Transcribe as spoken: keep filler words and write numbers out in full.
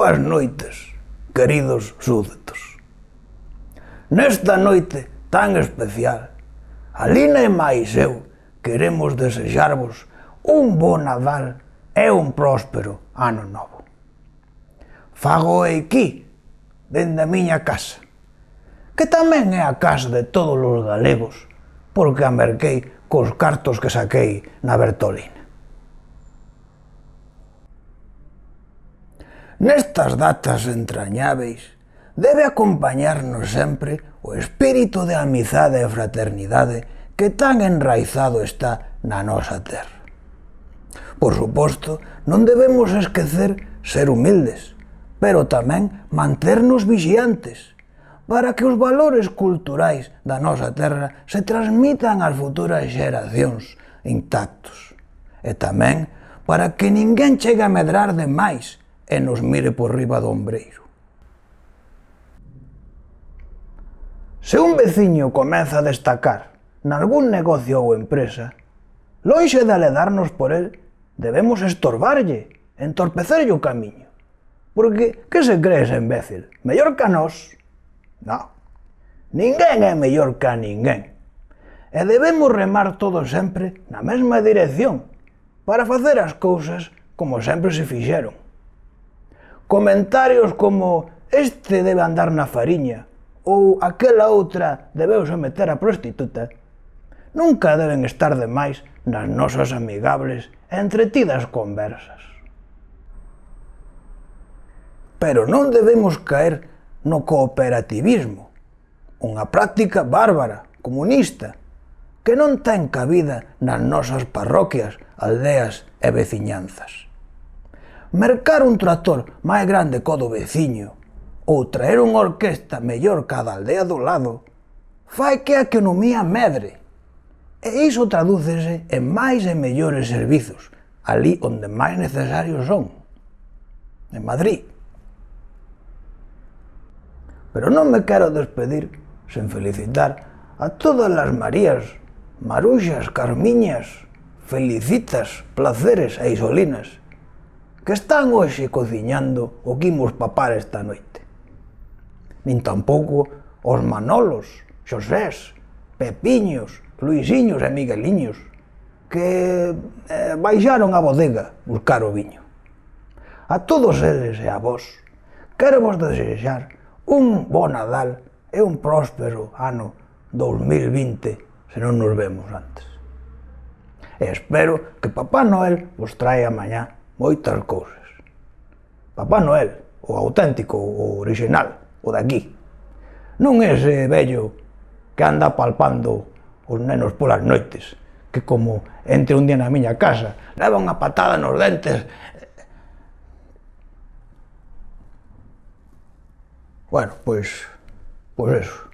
Boas noites, queridos súbditos. Nesta noite tan especial, a Lina e máis eu queremos desexarvos un bo Nadal e un próspero ano novo. Fago aquí, dende a miña casa, que tamén é a casa de todos os galegos, porque a merquei cos cartos que saquei na Bertolina. Nestas datas entrañáveis, debe acompañarnos sempre o espírito de amizade e fraternidade que tan enraizado está na nosa terra. Por suposto, non debemos esquecer ser humildes, pero tamén manternos vixiantes, para que os valores culturais da nosa terra se transmitan ás futuras xeracións intactos, e tamén para que ninguén chegue a medrar de máis e nos mire por riba do ombreiro. Se un veciño comeza a destacar nalgún negocio ou empresa, lonxe de aledarnos por el, debemos estorbarlle, entorpecerlle o camiño. Porque, que se cree ese imbécil? Mellor que a nós? Non. Ninguén é mellor que a ninguén. E debemos remar todos sempre na mesma dirección, para facer as cousas como sempre se fixeron. Comentarios como este debe andar na fariña ou aquela outra debeuse meter a prostituta nunca deben estar de máis nas nosas amigables e entretidas conversas. Pero non debemos caer no cooperativismo, unha práctica bárbara, comunista, que non ten cabida nas nosas parroquias, aldeas e veciñanzas. Mercar un tractor máis grande co do veciño ou traer unha orquesta mellor que a da aldea do lado fai que a economía medre, e iso tradúcese en máis e mellores servizos ali onde máis necesarios son, en Madrid. Pero non me quero despedir sen felicitar a todas as Marías, Maruxas, Carmiñas, Felicitas, Placeres e Isolinas que están hoxe cociñando o que imos papar esta noite. Nin tampouco os Manolos, Xosés, Pepiños, Luisiños e Migueliños que eh, baixaron a bodega buscar o viño. A todos eles e a vos quero vos desexar un bo Nadal e un próspero ano dos mil vinte se non nos vemos antes. E espero que Papá Noel vos traia mañá moitas cousas. Papá Noel, o auténtico, o original, o daqui. Non ese vello que anda palpando os nenos polas noites, que como entre un día na miña casa, leva unha patada nos dentes. Bueno, pois, pois eso.